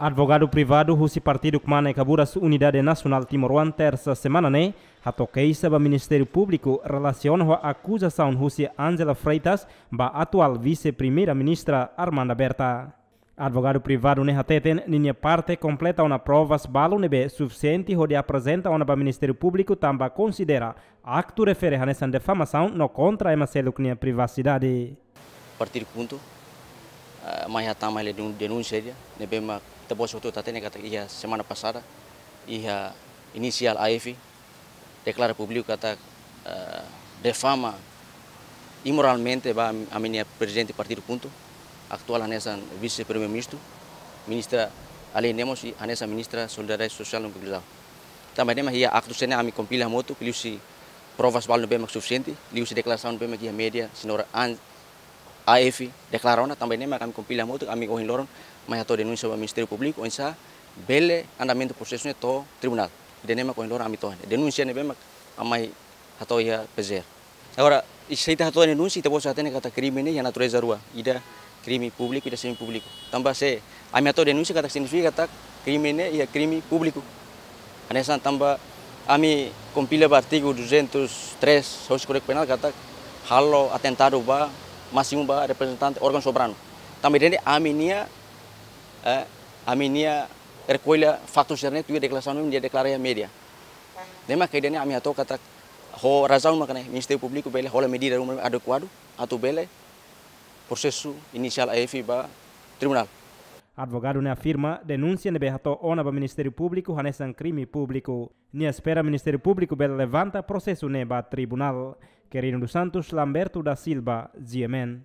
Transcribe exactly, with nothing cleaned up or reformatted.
Advogadu privadu husi partidu Kmane Kaburas Unidade Nasionál Timoroan, tersa semana ne'e hato'o keixa ba Ministériu Públiku relasiona ho akuzasaun husi Angela Freitas ba atuál Vise-Primeira-Ministra Armanda Berta. Advogadu privadu ne'e hateten ninia parte kompleta ona provas balu ne'ebé sufisiente hodi aprezenta ona ba Ministériu Públiku tanba konsidera aktu refere hanesan difamasaun no kontra ema seluk nia privasidade. Partidu KHUNTO, ah, mai hatama hela denun-, denúnsia ida ne'ebé mak ita-boot hotu hatene katak iha semana pasada, iha inisiál A F deklara públiku katak, eh, difama imoralmente ba ami-, ami-nia prezidente partidu KHUNTO, atuál hanesan Vise-Primeiru-Ministru, Ministra Aline Amos, i hanesan Ministra Solidariedade Sosiál no Inkluzaun. Tanba ne'e mak iha aktu sira-ne'e ami kompila hamutuk, liuhusi provas balu ne'ebé mak sufisiente, liuhusi deklarasaun ne'ebé mak iha média, señora An-, A F deklara ona, tanba ne'e mak ami kompila hamutuk, ami ohin loron mai hato'o denúnsia ba Ministériu Públiku, oinsá bele andamentu prosesu ne'e to'o tribunál. Ida-ne'e mak ohin loron ami to'o. Denúnsia ne'ebé mak ami mai hato'o iha P G R. Agora, i se ita hato'o denúnsia, ita-boot hatene katak krime ne'e iha natureza rua. Ida krime públiku, ida semipúbliku. Tanba se ami hato'o denúnsia katak signifika katak krime ne'e iha krime públiku. Hanesan tanba ami kompila ba artigu duzentos e três husi Kódigu Penál katak halo atentadu ba, másimu ba reprezentante órgaun soberanu. Tanba ida-ne'e ami-nia, eh, ami-nia rekolla faktu sira-ne'e tuir deklarasaun ne'ebé nia deklara iha média. Ne'e mak ida-ne'e ami hato'o katak ho razaun mak ne'e Ministériu Públiku bele hola medida ruma adekuadu atu bele prosesu inisiál A F ba tribunál. Advogadu ne'e afirma denúnsia ne'ebé hato'o ona ba Ministériu Públiku hanesan krime públiku. Nia espera Ministériu Públiku bele levanta prosesu ne'e ba tribunál. Quirino dos Santos, Lamberto da Silva, G M N.